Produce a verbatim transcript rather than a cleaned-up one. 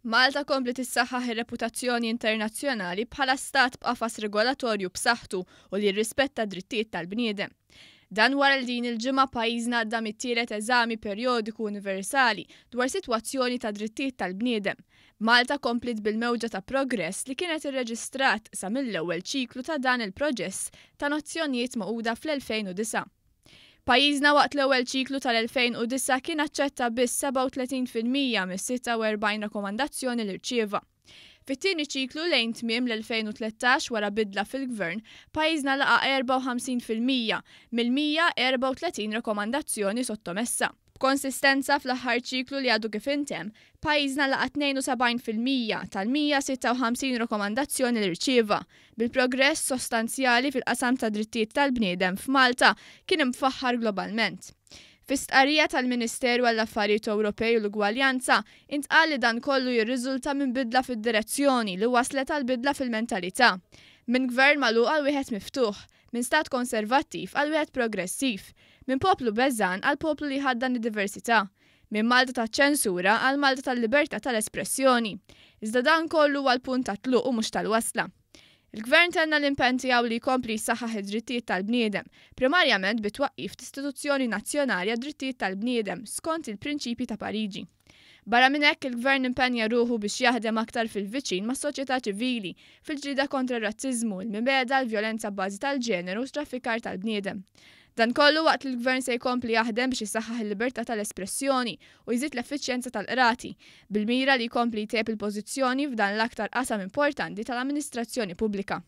Malta kompliet issaħħaħ ir-reputazzjoni internazzjonali bħala stat b'qafas regolatorju b'saħħtu u li jirrispetta d-drittijiet tal-bniedem. Dan wara li din il-ġimgħa pajjiżna għadda mit-tielet eżami perjodiku universali dwar sitwazzjoni ta' drittijiet tal-bniedem. Malta kompliet bil-mewġa ta' progress li kienet irreġistrat sa mill-ewwel ċiklu ta' dan il-proġess ta' Nazzjonijiet Magħquda fl-elfejn u disgħa. Pajjiżna waqt l-ewwel ċiklu tal-elfejn u disgħa kien aċċetta biss sebgħa u tletin fil-mija mis-sitta u erbgħin rakkomandazzjoni li rċieva. Fit-tieni ċiklu lejn tmiem l-elfejn u tlettax wara bidla fil-gvern, pajjiżna laqa' erbgħa u ħamsin fil-mija mill-mija erbgħa u tletin rakkomandazzjoni sottomessa. B'konsistenza fl-aħħar ċiklu li għadu kif intemm, pajjiżna laqa' tnejn u sebgħin fil-mija tal-mija sitta u ħamsin rakkomandazzjoni li rċieva, bil-progress sostanzjali fil-qasam ta' drittijiet tal-bniedem f'Malta kien imfaħħar globalment. Fi stqarrija tal-Ministeru għall-Affarijiet Ewropej u l-Ugwaljanza, intqal li dan kollu jirriżulta minn bidla fid-direzzjoni li waslet għal bidla fil-mentalità. Minn gvern magħluq għal wieħed miftuħ, minn stat konservattiv għal wieħed progressiv, minn poplu beżan għal poplu li jħaddan id-diversità, minn Malta taċ-ċensura għal Malta tal-libertà tal-espressjoni. Iżda dan kollu huwa l-punt ta' tluq u mhux tal-wasla. Il-gvern tenna l-impenn tiegħu li jkompli jsaħħaħ id-drittijiet tal-bniedem, primarjament bit-twaqqif t'istituzzjoni nazzjonali għad-drittijiet tal-bniedem skont il-prinċipji ta' Pariġi. Barra minn hekk, il-gvern impenja ruħu biex jaħdem aktar fil-viċin mas-soċjetà ċivili fil-ġlieda kontra r-razziżmu, il-mibegħda, l-vjolenza b'bażi tal-ġeneru u traffikar tal-bniedem. Dan kollu waqt li l-gvern se jkompli jaħdem biex isaħħaħ il-libertà tal-espressjoni u jżid l-effiċjenza tal-qrati, bil-mira li jkompli jtejjeb il-pożizzjoni f'dan l-aktar qasam importanti tal-amministrazzjoni pubblika.